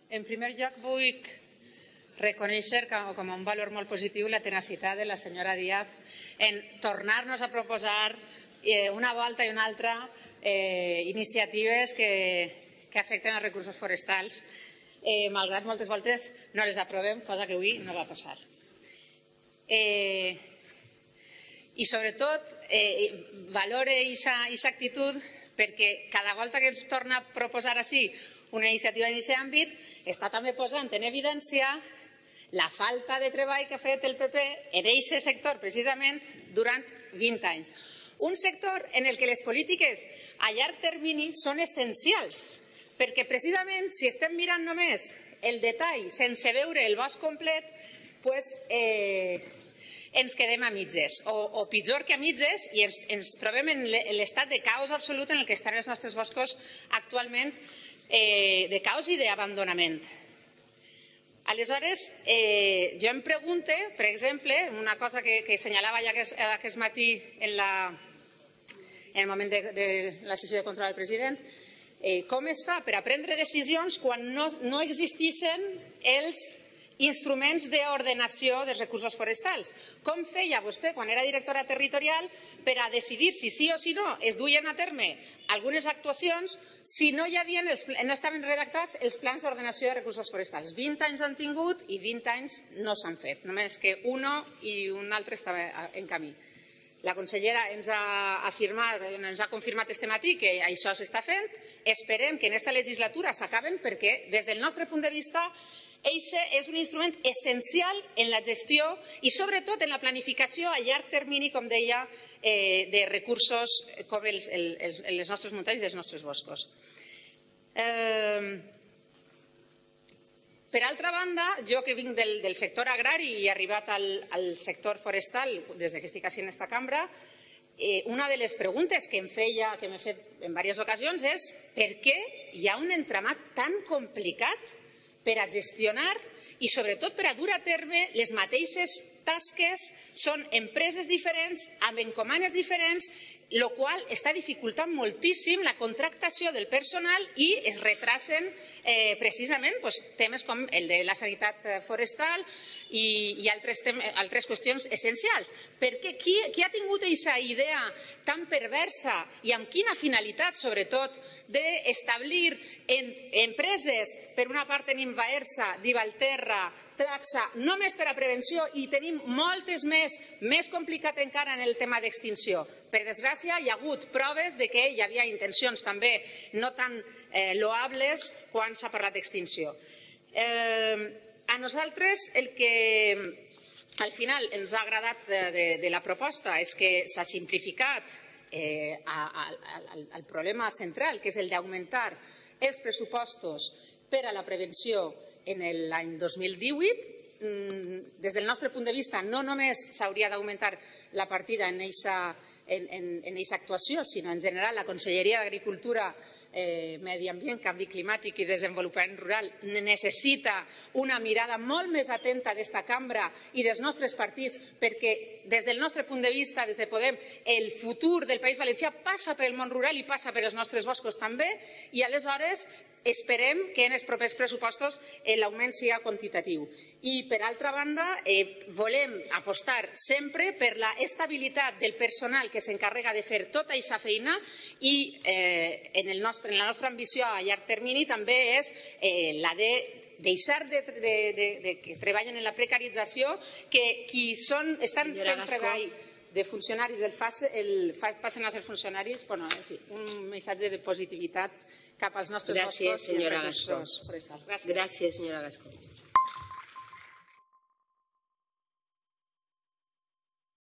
En primer lloc, vull reconèixer com un valor molt positiu la tenacitat de la senyora Díaz en tornar-nos a proposar una volta i una altra iniciatives que afecten els recursos forestals, malgrat moltes voltes no les aprovem, cosa que avui no va passar. I sobretot valore aquesta actitud perquè cada volta que ens torna a proposar així una iniciativa en aquest àmbit està també posant en evidència la falta de treball que ha fet el PP en aquest sector precisament durant 20 anys. Un sector en el que les polítiques a llarg termini són essencials, perquè precisament si estem mirant només el detall sense veure el bosc complet, ens quedem a mitges, o pitjor que a mitges, i ens trobem en l'estat de caos absolut en el que estan els nostres boscos actualment, de caos i d'abandonament. Aleshores, jo em pregunto, per exemple, una cosa que assenyalava ja aquest matí en el moment de la sessió de control del president, com es fa per a prendre decisions quan no existeixen els instruments d'ordenació dels recursos forestals. Com feia vostè, quan era directora territorial, per a decidir si sí o si no es duien a terme algunes actuacions si no estaven redactats els plans d'ordenació de recursos forestals? 20 anys han tingut i 20 anys no s'han fet, només que un i un altre estava en camí. La consellera ens ha confirmat este matí que això s'està fent. Esperem que en aquesta legislatura s'acaben perquè, des del nostre punt de vista, eixe és un instrument essencial en la gestió i sobretot en la planificació a llarg termini, com deia, de recursos com les nostres muntanyes i els nostres boscos. Per altra banda, jo que vinc del sector agrari i he arribat al sector forestal des que estic en aquesta cambra, una de les preguntes que m'he fet en diverses ocasions és per què hi ha un entramat tan complicat per a gestionar i sobretot per a dur a terme les mateixes tasques. Són empreses diferents, amb encomanes diferents, el qual està dificultant moltíssim la contractació del personal i es retrasen precisament temes com el de la sanitat forestal i altres qüestions essencials. Perquè qui ha tingut aquesta idea tan perversa i amb quina finalitat, sobretot, d'establir empreses, per una part tenim Baersa, Divalterra, Traxa, només per a prevenció, i tenim moltes més complicat encara en el tema d'extinció. Per desgràcia, hi ha hagut proves que hi havia intencions també no tan loables quan s'ha parlat d'extinció. A nosaltres el que al final ens ha agradat de la proposta és que s'ha simplificat el problema central, que és el d'augmentar els pressupostos per a la prevenció en l'any 2018. Des del nostre punt de vista, no només s'hauria d'augmentar la partida en aquesta actuació, sinó en general la Conselleria d'Agricultura, Medi Ambient, Canvi Climàtic i Desenvolupament Rural necessita una mirada molt més atenta d'esta cambra i dels nostres partits, perquè des del nostre punt de vista, des de Podem, el futur del País Valencià passa pel món rural i passa per els nostres boscos també, i aleshores esperem que en els propers pressupostos l'augment sigui quantitatiu. I, per altra banda, volem apostar sempre per l'estabilitat del personal que s'encarrega de fer tota aquesta feina, i en la nostra ambició a llarg termini també és la de deixar que treballen en la precarització, que qui estan fent treball de funcionaris passen a ser funcionaris. En fi, un missatge de positivitat cap als nostres boscos i recursos forestals. Gràcies, senyora Gascó.